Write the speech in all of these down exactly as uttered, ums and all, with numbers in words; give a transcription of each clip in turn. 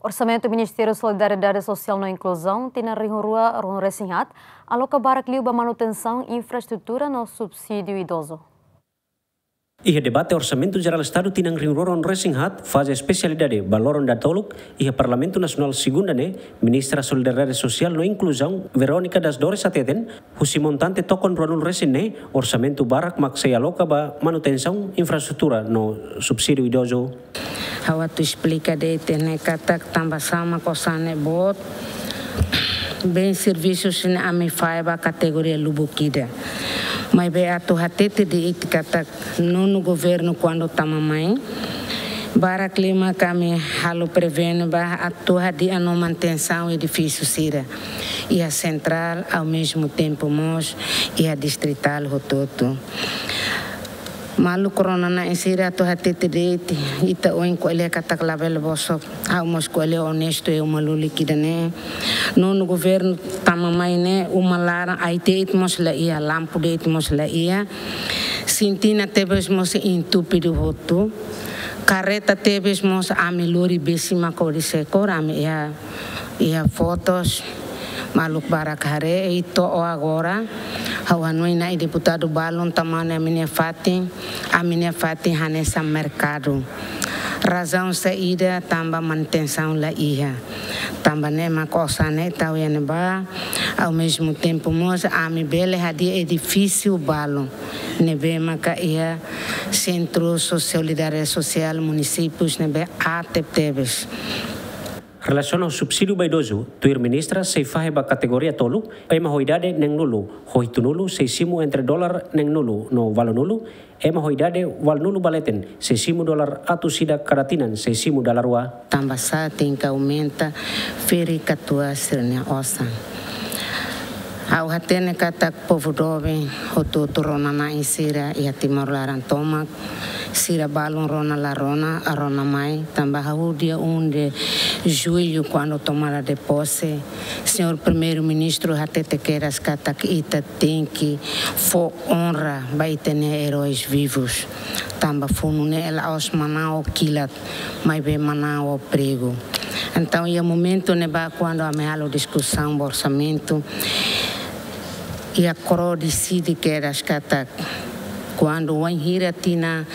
Orsamentu Ministériu Solidariedade Sosiál no Inkluzaun tinan rihun rua ruanulu-resin-haat aloka barak liu ba manutensaun infraestrutura no subsídiu idozu. Iha debate Orsamentu Jerál Estadu tinan rihun rua ruanulu-resin-haat faze espesialidade ba loron datoluk iha Parlamentu Nasionál Segunda ne'e, Ministra Solidariedade Sosiál no Inkluzaun, Verónica das Dores, hateten, husi montante tokon ruanulu-resin ne'e, orsamentu barak mak sei aloka ba manutensaun infraestrutura no subsídiu idozu. Ha'u atu esplika de'it ne'e katak tanba sá mak osan ne'e boot, bens servisus ne'e ami fahe ba kategoria lubuk ida. Maibé atu hatete de'it katak nonu governu kuandu tama mai, barak liu mak ami halo prevene ba atu hadi'a no manutensaun edifísiu sira iha sentrál, ao mesmo tempo mós iha distritál hotu-hotu. Maluk rona-na'in sira, atu hatete de'it, ita ohin ko'alia katak labele bosok, ha'u mós ko'alia onestu iha uma lulik ida-ne'e. Nonu governu tama mai ne'e, uma laran, ai de'it mós la iha, lampu de'it mós la iha. Sintina tebes mós entúpidu hotu. Karreta tebes mós ami lori besi mak hodi sekór, ami iha, iha fotos, maluk barak haree, i to'o agora, ha'u hanoin na'i deputadu balun tama ona ami-nia fatin, ami-nia fatin hanesan merkadu. Razaun saida? Tanba manutensaun la iha. Tanba ne'e mak osan ne'e tau iha ne'ebá, ao mesmo tempo mós ami bele hadi'a edifísiu balun ne'ebé maka iha Sentru Solidariedade Sosiál munisípius ne'ebé aat tebetebes. Relasiona ho subsídiu ba idozu, tuir ministra sei fahe ba kategoria tolu, ema ho idade neenulu ho hitunulu sei simu entre dolar neenulu no valunulu, ema ho idade ualunulu ba leten sei simu dolar atus ida kada tinan sei simu dala rua. Tanba sá tenke aumenta ferik-katuas sira-nia osan? Ha'u hatene katak povu doben hotu-hotu, rona-na'in sira iha Timor laran tomak, sira balun rona la rona, rona mai, tanba hahú dia um de julho, kuandu tomada de posse, señór Primeiru-Ministru hatete kedas katak ita tenke fó onra ba ita-nia eróis vivus. Tanba funu ne'e la'ós manán ou kilat, maibé manán ou pregu. Entaun, iha momentu ne'ebá, kuandu ami halo diskusaun ba orsamentu, iha KRO deside kedas katak kuandu wainhira tinan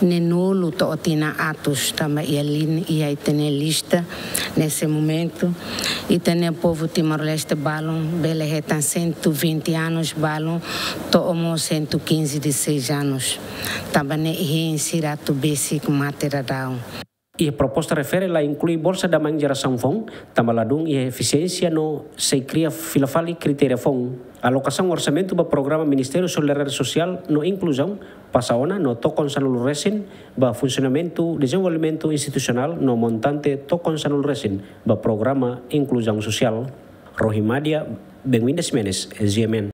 neenulu to'o tinan atus, tanba iha lin-, iha ita-nia lista, nesse momento, ita-nia povu Timor-Leste balun bele hetan cento e vinte anos balun, to'o mós cento e quinze de seis anos. Tanba ne'e hein sira atu besik mate daudaun. Iha proposta refere la inklui Bolsa da Mãe Jerasaun foun, tanba ladún iha efisiénsia no sei kria fila fali kritéria foun. Alokasaun orsamentu ba programa Ministériu Solidariedade Sosiál no Inkluzaun pasa ona no tokon sanulu-resin ba funsionamentu dezenvolvimentu institusionál no montante tokon sanulu-resin ba programa inkluzaun sosiál. Rohi Madia, Benwinda Ximenes, G M N.